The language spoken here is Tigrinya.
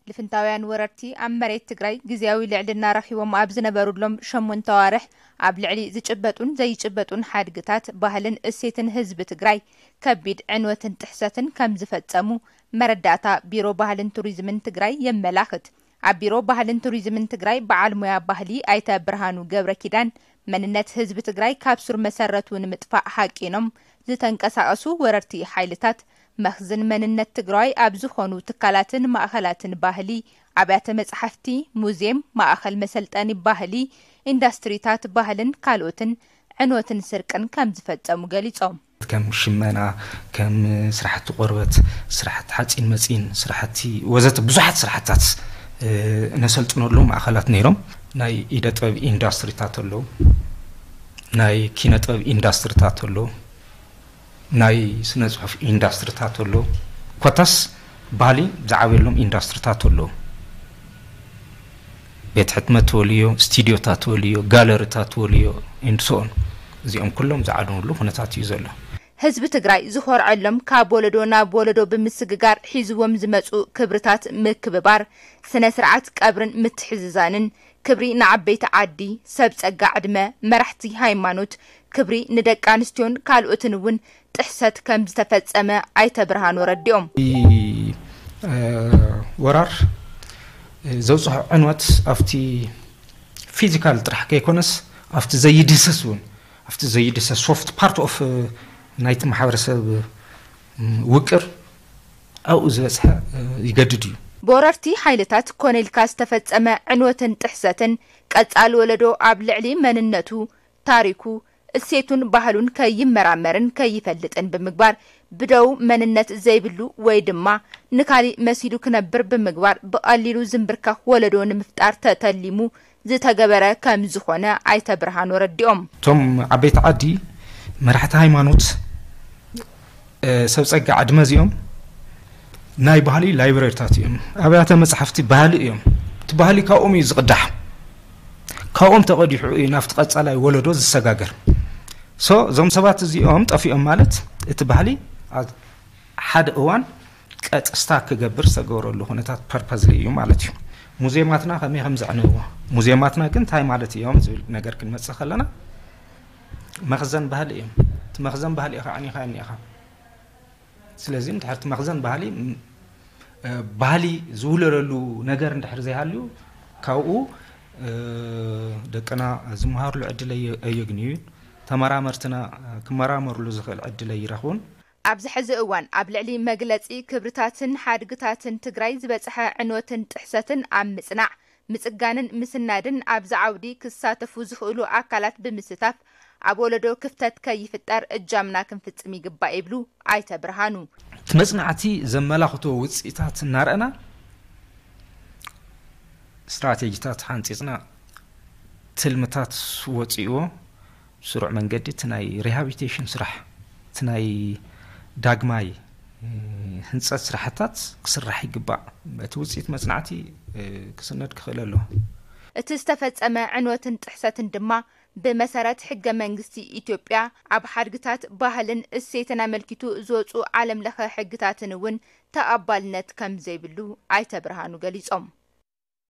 ልፍንታውያን ወረርቲ ኣብ መሬት ትግራይ ግዝያዊ ልዕልና ረኺቦም ኣብ ዝነበሩሎም ሸሞንተ ኣዋርሕ ኣብ ልዕሊ ዝጭበጡን ዘይጭበጡን ሓድግታት ባህልን እሴትን ህዝቢ ትግራይ ከቢድ ዕንወትን ጥሕሰትን ከም ዝፈጸሙ መረዳእታ ቢሮ ባህልን ቱሪዝምን ትግራይ የመላኽት። ኣብ ቢሮ ባህልን ቱሪዝምን ትግራይ በዓል ሞያ ባህሊ ኣይተ ብርሃኑ ገብረ ኪዳን፣ መንነት ህዝቢ ትግራይ ካብ ሱር መሰረቱ ንምጥፋእ ሃቂኖም ዝተንቀሳቐሱ ወረርቲ ሓይልታት መኽዝን መንነት ትግራዋይ ኣብ ዝኾኑ ትካላትን ማእኸላትን ባህሊ፣ ኣብያተ መጻሕፍቲ፣ ሙዝየም፣ ማእኸል መሰልጠኒ ባህሊ፣ ኢንዳስትሪታት ባህልን ካልኦትን ዕንወትን ስርቅን ከም ዝፈጸሙ ገሊጾም። ከም ሽመና፣ ከም ስራሕቲ ቆርበት፣ ስራሕቲ ሓፂን መፂን፣ ስራሕቲ ወዘተ ብዙሓት ስራሕትታት ነሰልጥነሉ ማእኸላት ነይሮም። ናይ ኢደ ጥበብ ኢንዳስትሪታት ኣለዉ፣ ናይ ኪነ ጥበብ ኢንዳስትሪታት ኣለዉ፣ ናይ ስነ ፅሑፍ ኢንዳስትሪታት ኣለዉ። ኮታስ ባህሊ ዝዓበየሎም ኢንዳስትሪታት ኣለዉ። ቤት ሕትመት ትበልዮ፣ ስቱዲዮታት ትበልዮ፣ ጋለሪታት ትበልዮ፣ and so on። እዚኦም ኩሎም ዝዓነውሉ ኩነታት እዩ ዘሎ። ህዝቢ ትግራይ ዝኾርዐሎም ካብ ወለዶ ናብ ወለዶ ብምስግጋር ሒዝዎም ዝመፁ ክብርታት ምክብባር፣ ስነ ስርዓት ቀብርን ምትሕዝዛንን፣ ክብሪ ንዓበይቲ ዓዲ፣ ሰብ ፀጋ ዕድመ፣ መራሕቲ ሃይማኖት፣ ክብሪ ንደቂ ኣንስትዮን ካልኦትን እውን ጥሕሰት ከም ዝተፈፀመ ኣይተ ብርሃኑ ኣረዲኦም። ወራር ዘብፅሖ ዕንወት ኣብቲ ፊዚካል ጥራሕ ከይኮነስ ኣብቲ ዘይድህሰስ እውን ኣብቲ ዘይድህሰስ ሶፍት ፓርት ኦፍ ናይቲ ማሕበረሰብ ውቅር ኣብኡ ዝበፅሐ ይገድድ እዩ። ብወረርቲ ሓይልታት ኮነ ኢልካ ዝተፈፀመ ዕንወትን ጥሕሰትን ቀፃሊ ወለዶ ኣብ ልዕሊ መንነቱ፣ ታሪኩ፣ እሴቱን ባህሉን ከይመራመርን ከይፈልጥን ብምግባር ብደው መንነት ዘይብሉ ወይ ድማ ንካሊእ መሲሉ ክነብር ብምግባር ብቐሊሉ ዝንብርከኽ ወለዶ ንምፍጣር ተተሊሙ ዝተገበረ ከም ዝኾነ ኣይተ ብርሃኑ ኣረዲኦም። እቶም ዓበይቲ ዓዲ መራሕቲ ሃይማኖት ሰብ ፀጋ ዕድመ እዚኦም ናይ ባህሊ ላይብረሪታት እዮም። ኣብያተ መፅሓፍቲ ባህሊ እዮም። እቲ ባህሊ ካብኦም እዩ ዝቕዳሕ። ካብኦም ተቐዲሑ እዩ ናብቲ ቀፃላይ ወለዶ ዝሰጋገር። ሶ እዞም ሰባት እዚኦም ጠፊኦም ማለት እቲ ባህሊ ሓደ እዋን ቀጥስታ ክገብር ዝተገበረሉ ኩነታት ፐርፐዝሊ እዩ ማለት እዩ። ሙዚየማትና ከመይ ከም ዘዕነዎ፣ ሙዚየማትና ግን እንታይ ማለት እዮም ዝብል ነገር ክንመፅእ ከለና መኽዘን ባህሊ እዮም። እቲ መኽዘን ባህሊ ኢኻ ኣዕኒኻ እኒኻ። ስለዚ እንድሕር እቲ መኽዘን ባህሊ ባህሊ ዝውለደሉ ነገር እንድሕር ዘይሃልዩ ካብኡ ደቅና ዝመሃርሉ ዕድል ኣየግንዩን፣ ተመራመርትና ክመራመርሉ ዝኽእል ዕድል ኣይረኽቡን። ኣብዚ ሕዚ እዋን ኣብ ልዕሊ መግለፂ ክብርታትን ሓድግታትን ትግራይ ዝበፅሐ ዕንወትን ጥሕሰትን ኣብ ምፅናዕ፣ ምፅጋንን ምስናድን ኣብዚ ዓውዲ ክሳተፉ ዝኽእሉ ኣካላት ብምስታፍ ኣብ ወለዶ ክፍተት ከይፍጠር እጃምና ክንፍፅም ይግባእ ይብሉ ኣይተ ብርሃኑ። እቲ መፅናዕቲ ዘመላኽቶ ውፅኢታት እናረእና ስትራቴጂታት ሓንፂፅና ትልምታት ወፂእዎ ስሩዕ መንገዲ እቲ ናይ ሪሃቢሊቴሽን ስራሕ እቲ ናይ ዳግማይ ህንፀት ስራሕታት ክስራሕ ይግባእ። እቲ ውፅኢት መፅናዕቲ ክስነድ ክኽእል ኣለዎ። እቲ ዝተፈፀመ ዕንወትን ጥሕሰትን ድማ ብመሰረት ሕገ መንግስቲ ኢትዮጵያ ኣብ ሓድግታት ባህልን እሴትን ኣመልኪቱ ዝወፁ ዓለም ለኸ ሕግታትን እውን ተቐባልነት ከም ዘይብሉ ኣይተ ብርሃኑ ገሊፆም።